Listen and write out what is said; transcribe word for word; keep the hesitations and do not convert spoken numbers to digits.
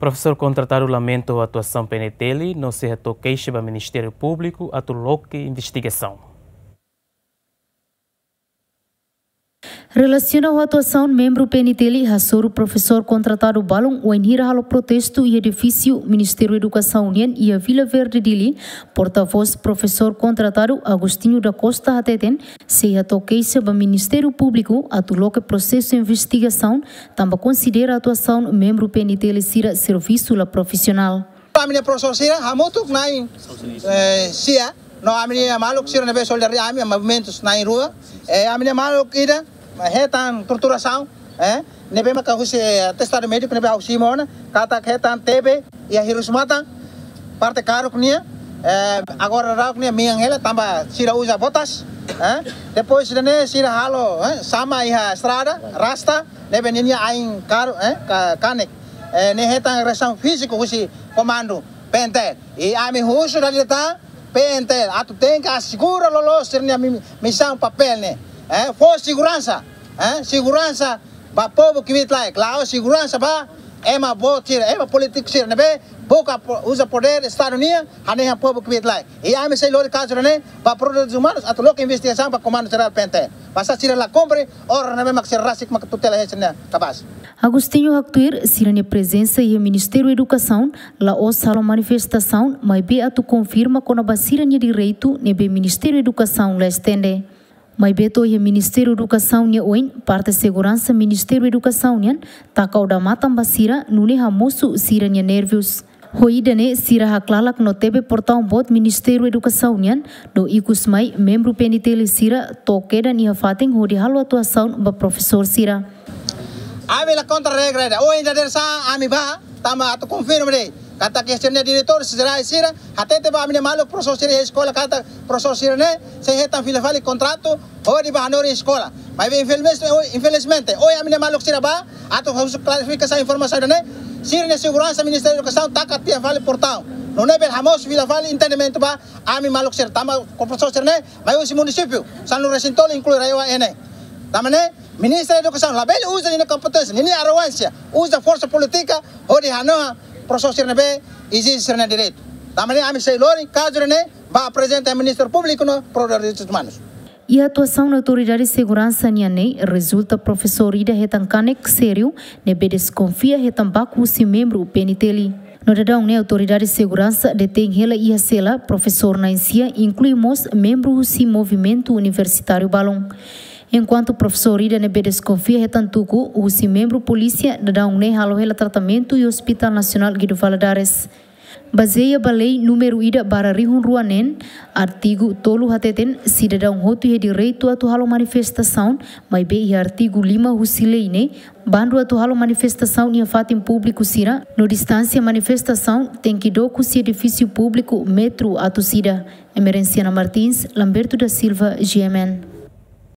Profesór kontratadu lamenta ho atuasaun P N T L no sei hato'o keixa ba Ministériu Públiku atu loke investigasaun. Relasiona ho atuasaun membru P N T L hasoru profesór kontratadu balun wainhira halo protestu iha edifísiu Ministériu Edukasaun nian iha Vila Verde, Dili, portavós profesór kontratadu Agostinho da Costa hateten, sei hato'o keixa ba Ministériu Públiku atu loke prosesu investigasaun, tanba konsidera atuasaun membru P N T L sira servisu la profisionál. Ami-nia profesór sira hamutuk na'in, eh, sia, no ami-nia maluk sira ne'ebé solidariedade ami, movimentus na'in rua. Eh, ami-nia maluk ida hetan torturasaun, eh, ne'ebé maka husi, eh, atestadu médiku ne'ebé ha'u simu ona, katak hetan T B iha hirus-matan, parte karuk nian, eh, agora daudaun ne'e mean hela tanba sira uza botas, eh. Depois ida-ne'e sira halo, eh, sama iha estrada, rasta, ne'ebé ninia ain karu, eh, ka-, kanek. Eh, ne'e hetan agresaun fíziku husi komandu P N T L. I ami husu dala ida tan P N T L atu tenke asegura loloos sira-nia mi-, misaun papél ne'e. Eh, fó seguransa, eh, seguransa ba povu kbiit-laek, la'ós seguransa ba ema boot sira, ema polítiku sira ne'ebé buka po-, uza podér Estadu nian hanehan povu kbiit-laek. I ami sei lori kazu ne'e ba Provedores Umanus atu loke investigasaun ba Komandu Jerál P N T L. Basta sira la kumpre orden ne'ebé mak sira rasik mak tutela iha sira-nia kabaas. Agostinho haktuir, sira-nia prezensa iha Ministériu Edukasaun la'ós halo manifestasaun, maibé atu konfirma kona-ba sira-nia direitu ne'ebé Ministériu Edukasaun la estende. Maibé to'o iha Ministériu Edukasaun nia oin, parte seguransa Ministériu Edukasaun nian taka odamatan ba sira, nune'e hamosu sira-nia nervius. Ho ida-ne'e sira haklalak no tebe portaun boot Ministériu Edukasaun nian, no ikus mai membru P N T L sira to'o kedan iha fatin hodi halo atuasaun ba profesór sira. Ami la kontra regra ida. Ohin dadeer-saan ami bá, tanba atu konfirma de'it katak sira-nia diretór jerál sira hatete ba ami-nia maluk profesór sira iha eskola katak profesór sira-ne'e sei hetan fila fali kontratu hodi bá hanorin eskola. Maibé infelizmente, ohin, infelizmente, ohin ami-nia maluk sira bá atu husu klarifikasaun informasaun ida-ne'e, sira-nia seguransa Ministériu Edukasaun taka tiha fali portaun. Nune'e bele hamosu fila fali entendimentu ba ami maluk sira, tanba profesór sira-ne'e mai husi munisípiu sanulu-resin-tolu, inklui RAEOA ne'e. Tanba ne'e Ministériu Edukasaun labele uza ninia kompeténsia, ninia arrogánsia, uza forsa polítika hodi hanoha profesór sira ne'ebé ezije sira-nia direitu. Tanba ne'e ami sei lori kazu ne'e ba aprezenta Ministériu Públiku no Provedores Umanus. Iha atuasaun autoridade seguransa nian ne'e rezulta profesór ida hetan kanek sériu ne'ebé deskonfia hetan baku husi membru P N T L. No daudaun ne'e autoridade seguransa detein hela iha sela profesór na'in sia, inklui mós membru husi movimentu universitáriu balun. Enkuantu profesór ida ne'ebé deskonfia hetan tuku husi membru polísia, daudaun ne'e halo hela tratamentu iha Hospital Nasionál Guido Valadares. Bazeia ba lei númeru ida barra rihun rua neen, artigu tolu hateten sidadaun hotu iha direitu atu halo manifestasaun, maibé iha artigu lima husi lei ne'e bandu atu halo manifestasaun iha fatin públiku sira, no distánsia manifestasaun tenke dook husi edifísiu públiku metru atus ida. Emerenciana Martins, Lamberto da Silva, G M N.